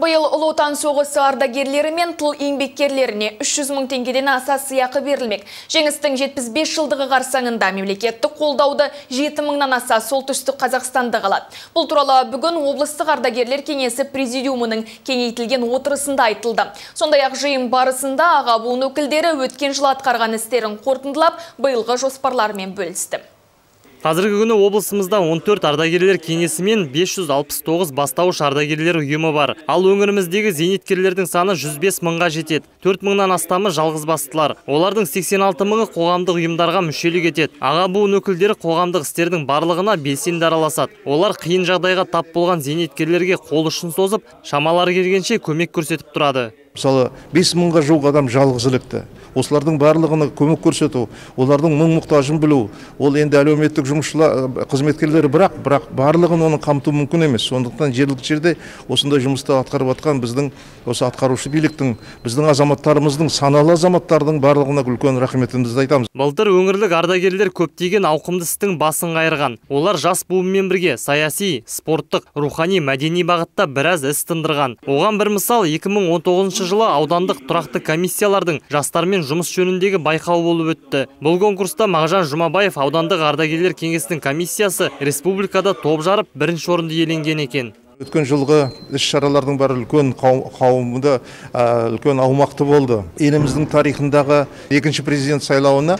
Биыл Ұлы Отан соғысы ардагерлері мен тыл еңбеккерлеріне 300 мың теңгеден аса сыйақы берілмек. Жеңістің 75 жылдығы қарсаңында мемлекеттік қолдауды 7 мыңнан аса солтүстік Қазақстанда қалады. Бұл туралы бүгін облыстық ардагерлер кеңесі президиумының кеңейтілген отырысында айтылды. Сондай-ақ жиын барысында аға буын өкілдері өткен жыл атқарған істерін қорытындылап, биылғы жоспарларымен бөлісті. Қазіргі күні облысымызда 14 ардагерлер кеңесі мен 569 бастауыш ардагерлер ұйымы бар. Ал өңіріміздегі зейнеткерлердің саны 105 мыңға жетеді. 4 мыңнан астамы жалғызбастылар. Олардың 86 мыңы қоғамдық ұйымдарға мүшелік етеді. Аға буын өкілдері қоғамдық істердің барлығына белсенді араласады. Олар қиын жағдайға тап болған зейнеткерлерге қол ұшын созып, шамалары келгенше көмек көрсетіп тұрады. Мысалы, 5 мыңға жуық адам жалғызілікті. Осылардың барлығына көмек көрсету, олардың мұң-мұқтажын білу, ол енді әлеуметтік жұмысшылар, қызметкерлері бірақ барлығын оның қамту мүмкін емес. Сондықтан жергілікті жерде осындай жұмысты атқарып жатқан біздің осы атқарушы биліктің, біздің азаматтарымыздың, саналы азаматтардың барлығына үлкен рахметімізді айтамыз. Былтыр өңірлік ардагерлер көптеген ауқымды істің басын қайырған. Олар жас буынмен бірге саяси, спорттық, рухани, мәдени бағытта біраз іс тындырған. Оған бір мысал 2019 жылы аудандық тұрақты комиссиялардың жастармен жұмыс жөніндегі байқау болып өтті. Бұл конкурста Мағжан Жұмабаев аудандық ардагерлер кеңесінің комиссиясы республикада топ жарып бірінші орынды иеленген екен. Өткен жылғы іс-шаралардың бәрі үлкен қауымда үлкен аумақты болды. Еліміздің тарихындағы екінші президент сайлауына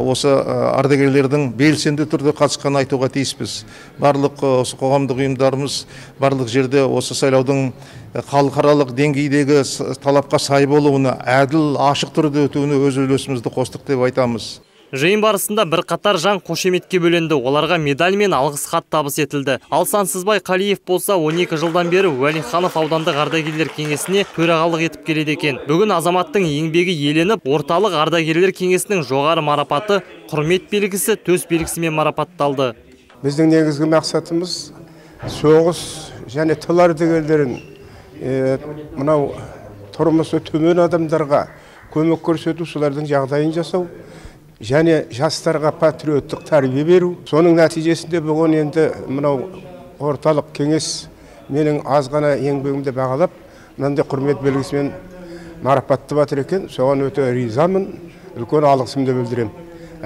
осы ардагерлердің белсенді түрде қатысқанын айтуға тиіспіз. Барлық қоғамдық ұйымдарымыз барлық жерде осы сайлаудың халықаралық деңгейдегі талапқа сай болуына, әділ, ашық түрде өтуіне өз үлесімізді қостық деп айтамыз. Жиын барысында бірқатар жан қошеметке бөленді. Оларға медаль мен алғыс хат табыс етілді. Ал Сансызбай Қалиев болса 12 жылдан бері Уәлиханов аудандық ардагерлер кеңесіне төрағалық етіп келеді екен. Бүгін азаматтың еңбегі еленіп, орталық ардагерлер кеңесінің жоғары марапаты құрмет белгісі, төс белгісімен марапатталды. Біздің негізгі мақсатымыз соғыс және тыл ардагерлерін мынау тұрмысы төмен адамдарға көмек көрсету, солардың жағдайын жасау және жастарға патриоттық тәрбие беру. Соның нәтижесінде бүгін енді мынау орталық кеңес менің аз ғана еңбегімді бағалап, мынандай құрмет белгісімен марапаттап жатыр екен. Соған өте ризамын, үлкен алғысымды білдіремін.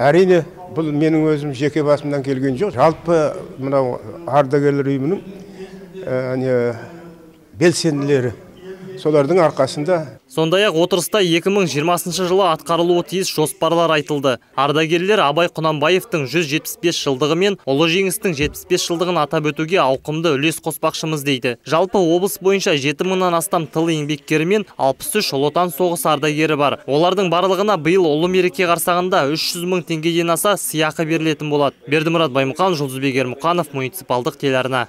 Әрине, бұл менің өзім жеке басымнан келген жоқ. Жалпы мынау ардагерлер ұйымының белсенділері, солардың арқасында. Сондай-ақ отырыста 2020 жылы атқарылуы тиіс жоспарлар айтылды. Ардагерлер Абай Құнанбаевтың 175 жылдығы мен ұлы жеңістің 75 жылдығын атап өтуге ауқымды үлес қоспақшымыз дейді. Жалпы облыс бойынша 7 мыңнан астам тыл еңбеккері мен 63 Ұлы Отан соғысы ардагері бар. Олардың барлығына биыл ұлы мереке қарсаңында 300 мың теңгеден аса сыйақы берілетін болады. Бердімұрат Баймұқан, Жұлдызбек Ермұқанов, муниципалдық телеарна.